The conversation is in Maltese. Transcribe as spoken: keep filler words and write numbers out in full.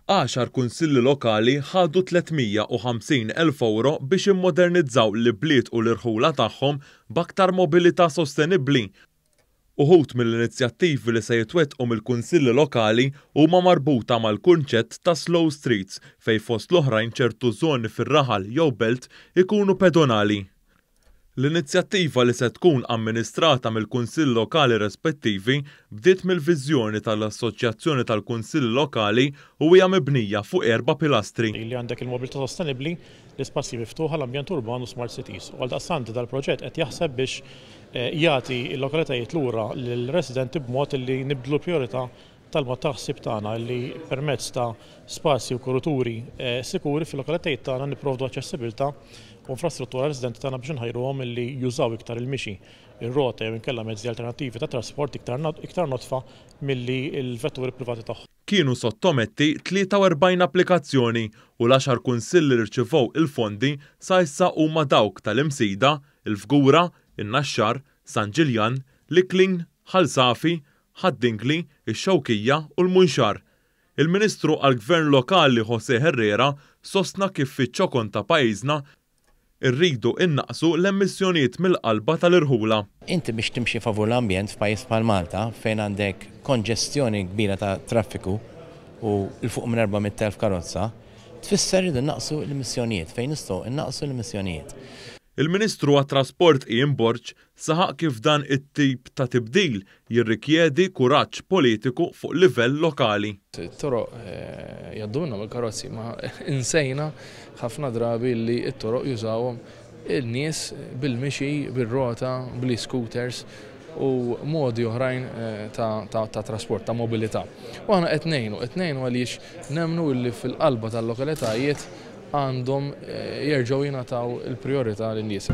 Għaxar kunsilli lokali ħadu tliet mija u ħamsin elf ewro biex immodernizzaw l-ibliet u l-irħula tagħhom b'aktar mobilità sostenibbli. Uħud mill-inizjattivi li se jitwettqu mill-kunsilli lokali huma marbuta mal-kunċett ta' slow streets fejn fost l-oħrajn ċertu żoni fir-raħal jew belt ikunu pedonali. L-inizjattiva li se tkun amministrata mill-Kunsill Lokali rispettivi bdiet mill-viżjoni tal-Assoċjazzjoni tal-Kunsill Lokali u hija mibnija fuq erba' pilastri. Li għandek il-mobilità sostenibbli, l-ispazji miftuħa, l-ambjent urban u smart cities. U għaldaqstant dal-proġett qed jaħseb biex, eh, jagħti l-lokalitajiet lura lill-residenti b'mod li nibdlu l-priorità tal-mod tal-ħsieb tagħna li permezz ta' spazji u kuruturi, eh, sikuri fil-lokalitajiet tagħna nipprovdu aċċessibilità u infrastruttura residenti tagħna biex nħajruhom li jużaw iktar il-mixi, ir-rota jew inkella mezzi alternattivi ta' trasport iktar not-, iktar notfa milli l-vetturi privati tagħhom. Kienu sottometti tlieta u erbgħin applikazzjoni u l-għaxar kunsilli li rċivew il-fondi sa issa huma dawk tal-Imsida, il-Fgura, in-Naxxar, San Ġiljan, l-Iklin, Ħal Safi, Ħad-Dingli, ix-Xewkija u l-Munxar. Il-Ministru għall-Gvern Lokali Jose Herrera sostna kif fiċ-ċokon ta' pajjiżna irridu innaqsu l-emissjonijiet mill-qalba tal-irħula. Inti biex timxi favur l-ambjent f'pajjiż bħal Malta fejn għandek konġestjoni kbira ta' traffiku u 'l fuq minn erba' mitt elf karozza, tfisser irridu naqsu l-emissjonijiet fejn nistgħu innaqsu l-emissjonijiet. Il-Ministru għat-Trasport Ian Borg saħaq kif dan it-tip ta' tibdil jirrikjedi kuraġġ politiku fuq livell lokali. It-toroq, eh, jgħaddu minnhom il-karozzi, ma insejna ħafna drabi li t-toroq jużawhom il-nies bil-mixi, bil-rota, bl-scooters u modi oħrajn, eh, ta', ta', ta' trasport, ta' mobilità. U aħna qed ngħinu, qed ngħinu għaliex nemmnu li fil-qalba tal-lokalitajiet għandhom, eh, jerġgħu jingħataw il-priorità lin-nies.